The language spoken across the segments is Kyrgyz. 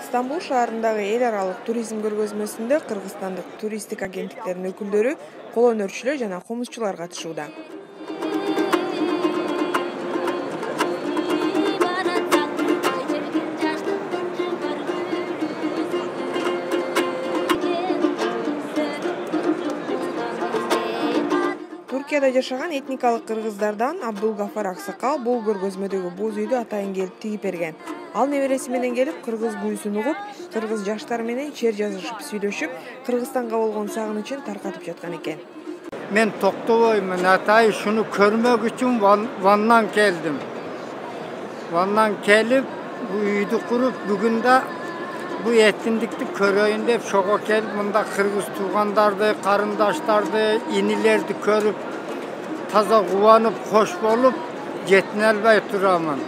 Стамбул шаарындагы эл аралык туризм көргөзмөсүндө кыргызстандык туристтик агенттиктердин өкүлдөрү, кол өнөрчүлөр жана комузчулар катышууда. Туркияда жашаган этникалык кыргыздардан Абдулгафар Аксакал бул көргөзмөдөгү боз үйдү атайын келип тигип берген. Ал небереси менен келип кыргыз күйүүсүн угуп, кыргыз жаштары менен чер жазышып сүйлөшүп, Кыргызстанга болгон сагынычын таркатып жаткан экен. Мен токтобоймун атай, шуну көрмөк үчүн Ваннан келдим. Ваннан келип, бу үйдү куруп, бүгүн да бу этиндикти көрөйүн деп шого келип, мында кыргыз туугандарды, карындаштарды, инилерди көрүп, таза кубанып, кош болуп, жетине албай турамын.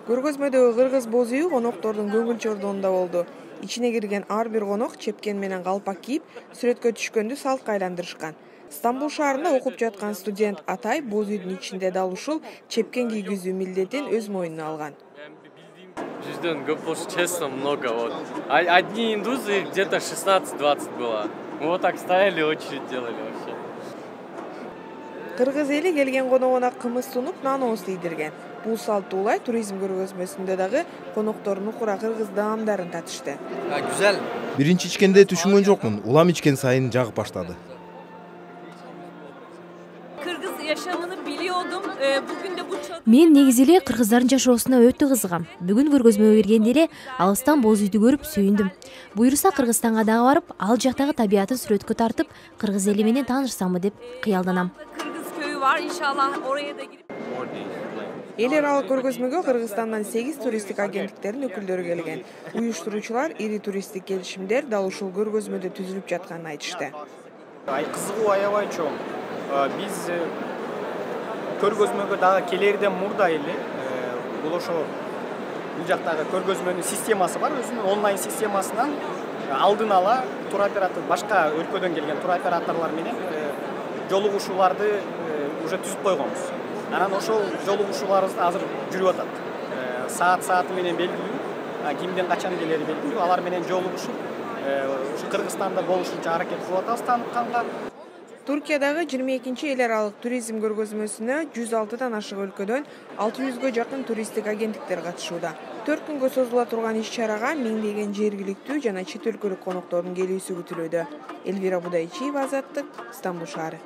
Көргөзмөдөгү кыргыз боз үйү коноктордун көңүл чордонунда болду. Ичине кирген ар бир конок чепкен менен калпак кийип, сүрөткө түшкөндү салтка айландырышкан. Стамбул шаарында окуп жаткан студент Атай боз үйдүн ичинде дал ушул чепкен кийгизүү милдетин өз мойнуна алган. Ждён гоп, честно, много. Вот. Одни индусы где-то 16-20 было. Мы вот так стояли, очередь делали вообще. Кыргыз эли келген коногуна кымыз сунуп, нан ооз тийдирген. Бул салттуу улай туризм көргөзмөсүндө дагы коноктор нукура кыргыз даамдарын татышты. Güzel. Биринчи ичкенде түшүнгөн жокмун, улам ичкен сайын жагып баштады. Kırgız yaşamını biliyordum. Bugün de bu Мен негизи эле кыргыздардын жашоосуна өтө кызыгам. Бүгүн көргөзмөгө киргенде эле алыстан боз үйдү көрүп сүйүндүм. Буюрса Кыргызстанга дагы барып, ал жактагы табиятын сүрөткө тартып, кыргыз эли менен таанышсамбы деп кыялданам. Kırgız köyü var. İnşallah oraya da girip Эл аралык көргөзмөгө Кыргызстандан 8 туристтик агенттиктердин өкүлдөрү келген. Уюштуруучулар ири туристтик келишимдер дал ушул көргөзмөдө түзүлүп жатканын айтышты. Кызыгуу аябай чоң. Биз көргөзмөгө дагы келерден мурда эле бул ошо бул жактагы көргөзмөнүн системасы бар, өзүнүн онлайн системасынан алдын ала туроператор, башка өлкөдөн келген туроператорлор менен жолугушууларды уже түзүп койгонбуз. Анан ошол жолугушууларыбыз азыр жүрүп атат. Сааты менен белгилүү, кимден качан келери белгилүү, алар менен жолугушуп, Кыргызстанда болушунча аракет кылып атабыз тааныкканга. Туркиядагы 22-чи эл аралык туризм көргөзмөсүнө 106дан ашык өлкөдөн 600гө жакын туристтик агенттиктер катышууда. 4 күнгө созула турган иш-чарага миңдеген жергиликтүү жана чет өлкөлүк коноктордун келүүсү күтүлүүдө. Элвира Будайчиева, Азаттык, Стамбул шаары.